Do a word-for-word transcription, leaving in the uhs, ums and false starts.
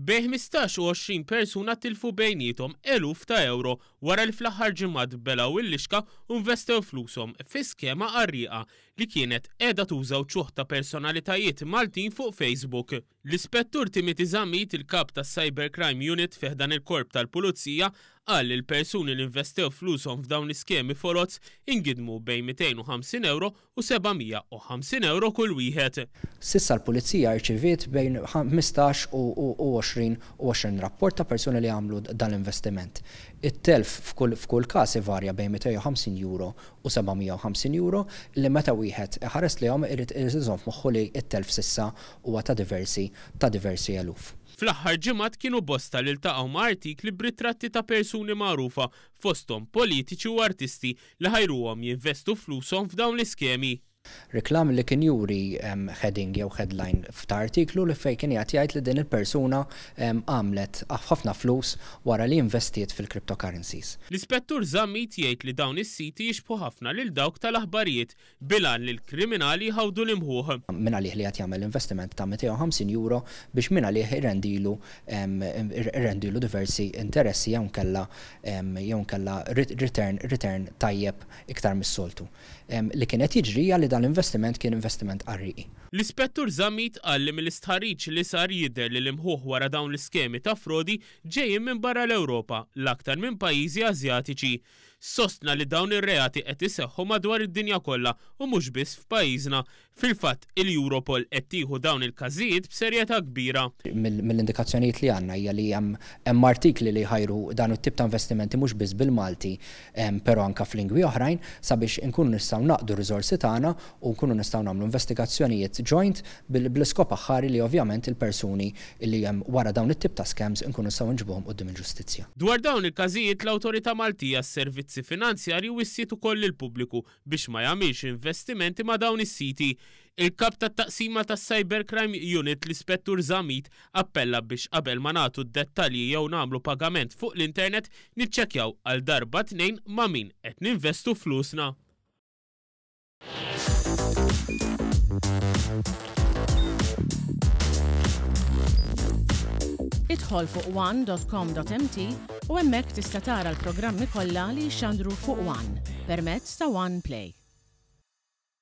Bejn ħmistax u għoxrin persuna tilfu bejniethom eluf ta' euro wara li fl-aħħar ġimgħat belgħu l-lixka u investew flushom fi skema qarrieqa li kienet qiegħda tuża wċuħ ta' personalitajiet Maltin fuq Facebook. L-Ispettur Timothy Zammit, il-kap tas-Cybercrime Unit fi ħdan il-Korp tal-Pulizija, qal li l-persuni li investew flushom f'dawn l-iskemi foloz ingidmu bejn mitejn u ħamsin euro u seba' mija u ħamsin euro kull wieħed. S'issa l-Pulizija rċiviet bejn ħmistax u għoxrin u għoxrin rapport ta' persuni li għamlu dan l-investiment. It-telf f'kull, f'kull każ ivarja bejn mitejn u ħamsin euro u seba' mija u ħamsin euro li meta wieħed iħares lejhom irid iżomm f'moħħu li t-telf s'issa huwa ta' diversi, ta' diversi eluf. Fl-aħħar ġimgħat kienu bosta li ltaqgħu ma' artikli b'ritratti ta' persuni magħrufa fosthom politiċi u artisti li ħajruhom jinvestu flushom f'dawn l-iskemi. Reklam li kien juri, em, heading jew headline f'ta' artiklu li fej kien jgħid jgħid li din il-persuna, em, għamlet ħafna flus wara li investiet fil-cryptocurrencies. L-Ispettur Zammit jgħid li dawn is-siti jixbħu ħafna lil dawk tal-aħbarijiet bil-għan li l-kriminali jħawdu l-imħuħ. Min għalih li qed jagħmel investiment ta' mitejn u ħamsin euro biex min għalih irrendilu, em, irrendilu diversi interessi jew nkella, em, jew nkella return, return tajjeb iktar mis-soltu. Em, li kien qed jiġri hija li dan l-investiment kien investiment qarrieqi. L-Ispettur Zammit qal li mill-istħarriġ li sar jidher li l-imħuħ wara dawn l-iskemi ta' frodi ġejjin minn barra l-Ewropa, l-aktar minn pajjiżi Asjatiċi. Sostna li dawn ir-reati qed iseħħu madwar id-dinja kollha u mhux biss f'pajjiżna. Fil-fatt, il-Europol qed tieħu dawn il-każijiet b'serjetà kbira. Mill-, mill-indikazzjonijiet li għandna hija li hemm, hemm artikli li jħajru dan it-tip ta' investimenti mhux biss bil-Malti, em, però anke f'lingwi oħrajn sabiex inkunu nistgħu naqdu r-riżorsi tagħna u nkunu nistgħu nagħmlu investigazzjonijiet joint bil-, bl-iskop aħħari li ovvjament il-persuni li hemm wara dawn it-tip ta' scams inkunu nistgħu nġibuhom quddiem il-ġustizzja. Dwar dawn il-każijiet l-Awtorità Maltija għas-Servizzi Finanzjarji wissiet ukoll lill-pubbliku biex ma jagħmilx investimenti ma' dawn is-siti. Il-kap tat-taqsima tas-Cybercrime Unit, l-Ispettur Zammit, appella biex qabel ma nagħtu d-dettalji jew nagħmlu pagament fuq l-internet niċċekkjaw għal darba tnejn ma' min qed ninvestu flusna. Idħol fuq one dot com dot M T u hemmhekk tista' tara l-programmi kollha li jixxandru fuq One permezz ta' One Play.